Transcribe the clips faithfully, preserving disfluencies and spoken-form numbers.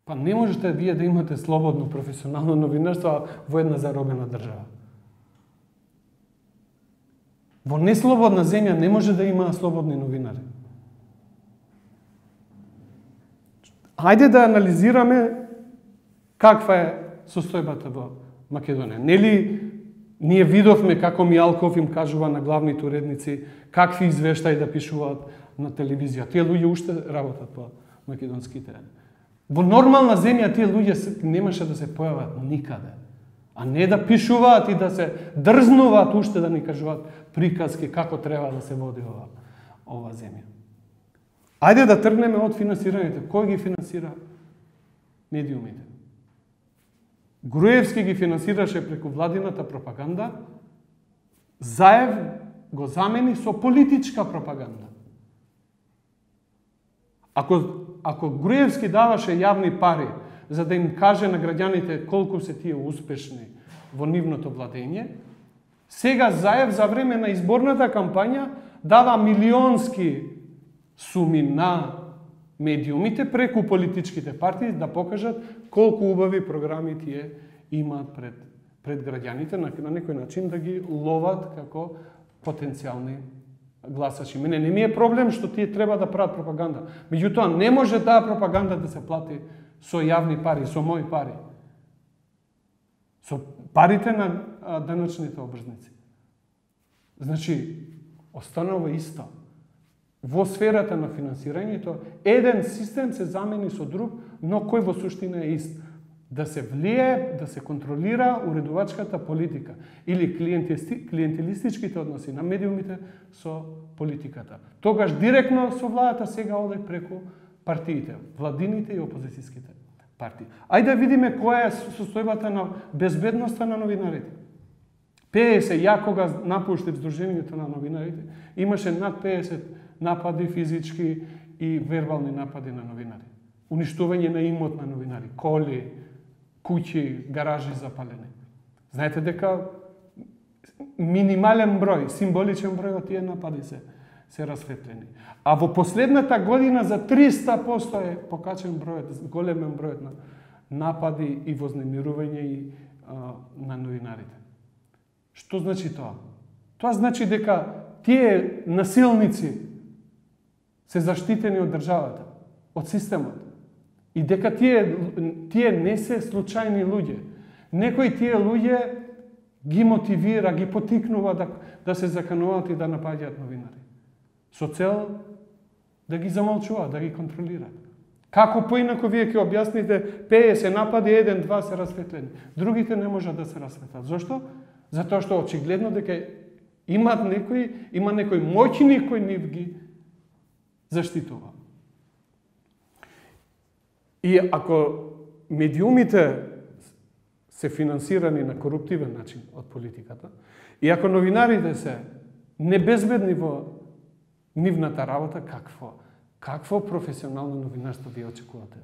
Па не можете вие да имате слободно професионално новинарство во една заробена држава. Во неслободна земја не може да има слободни новинари. Хајде да анализираме каква е состојбата во Македонија. Нели ние видовме како Мијалков им кажува на главните уредници какви извештаи да пишуваат на телевизија. Тие луѓе уште работат по македонските. Во нормална земја тие луѓе немаше да се појават никаде. А не да пишуваат и да се дрзнуваат уште да ни кажуваат приказки како треба да се води ова, ова земја. Ајде да тргнеме од финансирањето. Кој ги финансира медиумите? Груевски ги финансираше преку владината пропаганда, Заев го замени со политичка пропаганда. Ако, ако Груевски даваше јавни пари за да им каже на граѓаните колку се тие успешни во нивното владење, сега Заев за време на изборната кампања дава милионски суми на медиумите преку политичките партии да покажат колку убави програми тие имаат пред, пред граѓаните, на, на некој начин да ги ловат како потенцијални гласачи. Мене не ми е проблем што тие треба да прават пропаганда. Меѓутоа не може таа пропаганда да се плати со јавни пари, со мои пари. Со парите на а, данъчните обрзници. Значи, останува исто. Во сферата на финансирањето, еден систем се замени со друг, но кој во суштина е ист. Да се влие, да се контролира уредувачката политика или клиентелистичките односи на медиумите со политиката. Тогаш директно со владата, сега оде преку партиите, владините и опозицијските партии. Ајде да видиме која е состојбата на безбедноста на новинарите. пеесет, ја кога напуштив Сдруженијето на новинарите, имаше над пеесет напади физички и вербални напади на новинари. Уништување на имот на новинари, коли, куќи, гаражи запалени. Знаете дека минимален број, символичен број од тие напади се се расветлени. А во последната година за триста проценти е покачен бројот, големен бројот на напади и вознемирување и а, на новинарите. Што значи тоа? Тоа значи дека тие насилници се заштитени од државата, од системот. И дека тие, тие не се случајни луѓе. Некои тие луѓе ги мотивира, ги потикнува да, да се закануваат и да напаѓаат новинари. Со цел да ги замолчуваат, да ги контролираат. Како поинако вие ќе објасните пеесет напади, еден, два се расветлени. Другите не можат да се расветлат. Зошто? Затоа што очигледно дека имаат некои, има некој моќни кој нив ги заштитува. И ако медиумите се финансирани на коруптивен начин од политиката, и ако новинарите се небезбедни во нивната работа, какво? Какво професионално новинарство вие очекувате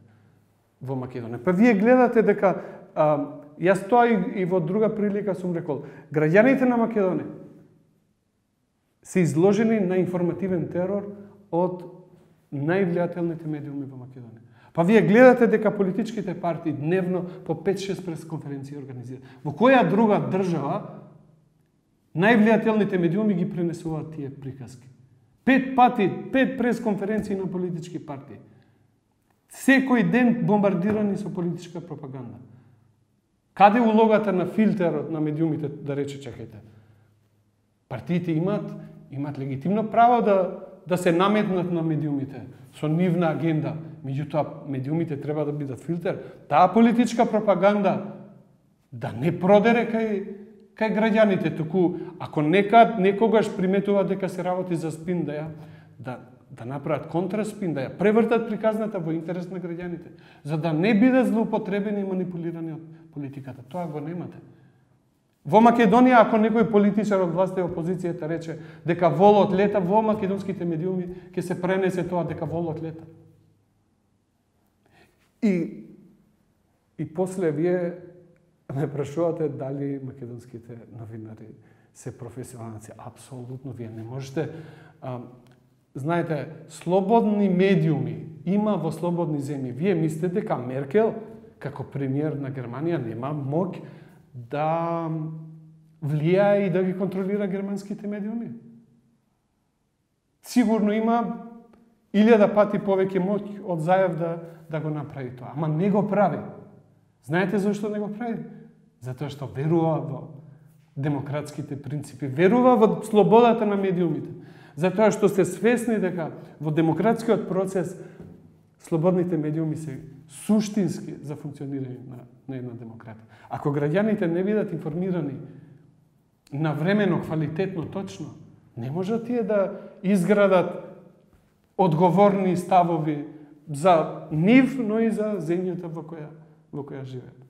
во Македонија? Па вие гледате дека, а, јас тоа и, и во друга прилика сум рекол, граѓаните на Македонија се изложени на информативен терор од највлијателните медиуми во Македонија. Па вие гледате дека политичките партии дневно по пет-шест пресконференции организираат. Во која друга држава највлијателните медиуми ги пренесуваат тие приказки? Пет пати, пет пресконференции на политички партии. Секој ден бомбардирани со политичка пропаганда. Каде улогата на филтерот на медиумите да рече чекајте? Партиите имаат, имаат легитимно право да, да се наметнат на медиумите со нивна агенда. Меѓутоа, медиумите треба да бидат филтер. Таа политичка пропаганда да не продере кај, кај граѓаните, туку ако некад, некогаш приметува дека се работи за спин, да ја, да, да направат контраспин, да ја превртат приказната во интерес на граѓаните, за да не бидат злоупотребени и манипулирани од политиката. Тоа го немате. Во Македонија, ако некој политичар од власта и опозицијата рече дека волот лета, во македонските медиуми ќе се пренесе тоа дека волот лета. И, и после вие ме прашувате дали македонските новинари се професионалци. Апсолутно, вие не можете. А, знаете, слободни медиуми има во слободни земји. Вие мислите дека Меркел, како премиер на Германија, нема моќ да влијае и да ги контролира германските медиуми? Сигурно има илјада пати повеќе моќ од Заев да, да го направи тоа. Ама не го прави. Знаете зашто не го прави? Затоа што верува во демократските принципи, верува во слободата на медиумите. Затоа што сте свесни дека во демократскиот процес слободните медиуми се суштински за функционирање на, на една демократија. Ако граѓаните не бидат информирани навремено, квалитетно, точно, не можат тие да изградат одговорни ставови за нив, но и за земјата во која, во која живеат.